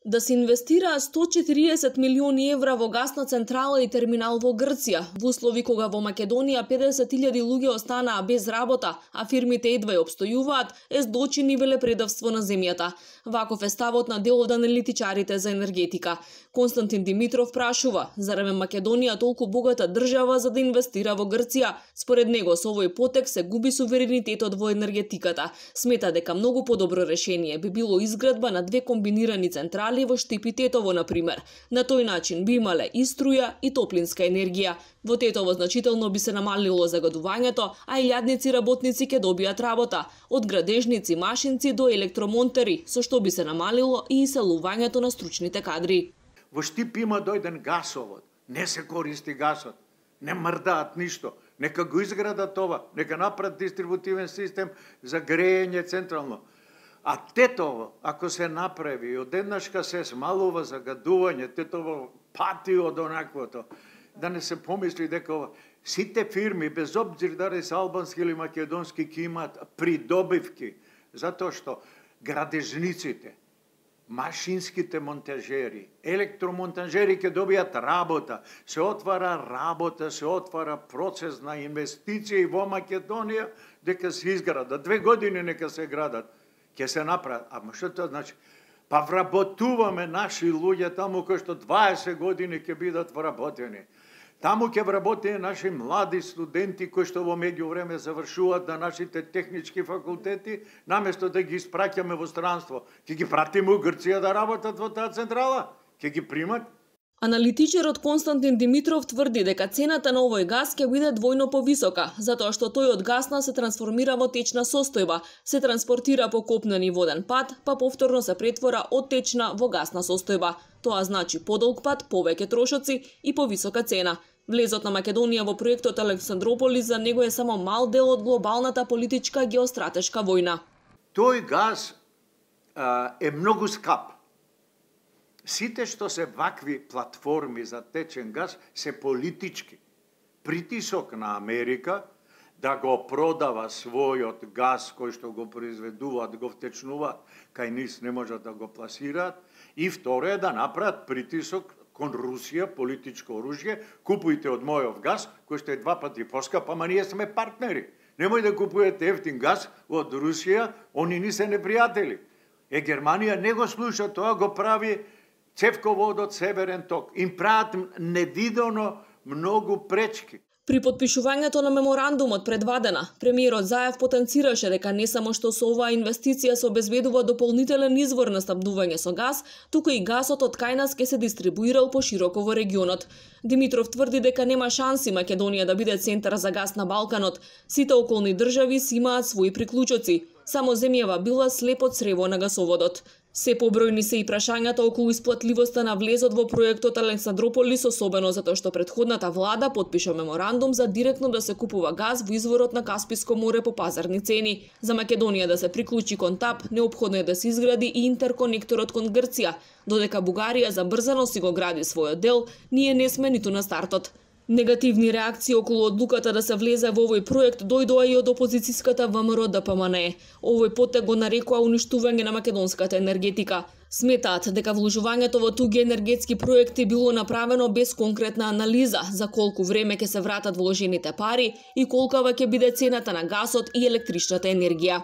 Да се инвестира 140 милиони евра во гасна централа и терминал во Грција, во услови кога во Македонија 50.000 луѓе останаа без работа, а фирмите едва ја обстојуваат, е злочин и велепредавство на земјата. Ваков е ставот на дел од аналитичарите за енергетика. Константин Димитров прашува, зарем Македонија толку богата држава за да инвестира во Грција? Според него, со овој потек се губи суверенитетот во енергетиката. Смета дека многу подобро решение би било изградба на две комбинирани централи во Штип и Тетово, например. На тој начин би имале и струја и топлинска енергија. Во Тетово значително би се намалило загадувањето, а илјадници работници ќе добијат работа, од градежници, машинци до електромонтери, со што би се намалило и иселувањето на стручните кадри. Во Штип има дојден гасовод, не се користи гасот, не мрдаат ништо. Нека го изградат това, нека направат дистрибутивен систем за грејење централно. А Тетово, ако се направи, одеднашка се смалува загадување, Тетово пати од онаквото, да не се помисли дека сите фирми, без обзир дали се албански или македонски, ќе имаат придобивки, затоа што градежниците, машинските монтажери, електромонтажери ќе добијат работа, се отвара работа, се отвара процес на инвестиции во Македонија, дека се изградат. 2 години нека се градат, ќе се направат. Ама што тоа значи? Па вработуваме наши луѓе таму кои што 20 години ќе бидат вработени. Таму ќе вработени наши млади студенти кои што во меѓувреме завршуваат на нашите технички факултети, наместо да ги испраќаме во странство, ќе ги пратиме у Грција да работат во таа централа, ќе ги примат. Аналитичарот Константин Димитров тврди дека цената на овој гас ќе биде двојно повисока, затоа што тој од гасна се трансформира во течна состојба, се транспортира по копнен и воден пат, па повторно се претвора од течна во гасна состојба. Тоа значи подолг пат, повеќе трошоци и повисока цена. Влезот на Македонија во проектот Александрополис за него е само мал дел од глобалната политичка геостратешка војна. Тој газ е многу скап. Сите што се вакви платформи за течен газ се политички. Притисок на Америка да го продава својот газ кој што го произведуваат, го втечнуваат, кај нис не можат да го пласираат. И второ е да направат притисок кон Русија, политичко оружје, купујте од мојов газ, кој што е 2 пати поскап, ама ние сме партнери. Немој да купуете ефтин газ од Русија, они ни се непријатели. Германија не го слуша тоа, го прави цевководот Северен ток. Им прават невидено многу пречки. При потпишувањето на меморандумот предвадена, премиерот Заев потенцираше дека не само што со оваа инвестиција се обезбедува дополнителен извор на снабдување со газ, туку и газот од кај нас ќе се дистрибуирал пошироко во регионот. Димитров тврди дека нема шанси Македонија да биде центар за газ на Балканот. Сите околни држави си имаат своји приклучоци. Само земјава била слепо црево на гасоводот. Се побројни се и прашањата околу исплатливоста на влезот во проектот Александрополис, особено затоа што претходната влада потпиша меморандум за директно да се купува газ во изворот на Касписко море по пазарни цени. За Македонија да се приклучи кон ТАП, неопходно е да се изгради и интерконекторот кон Грција. Додека Бугарија забрзано си го гради својот дел, ние не сме ниту на стартот. Негативни реакции околу одлуката да се влезе во овој проект дојдоа и од опозицијската ВМРО-ДПМНЕ. Овој потек го нарекува уништување на македонската енергетика. Сметаат дека вложувањето во туги енергетски проекти било направено без конкретна анализа за колку време ќе се вратат вложените пари и колкава ќе биде цената на гасот и електричната енергија.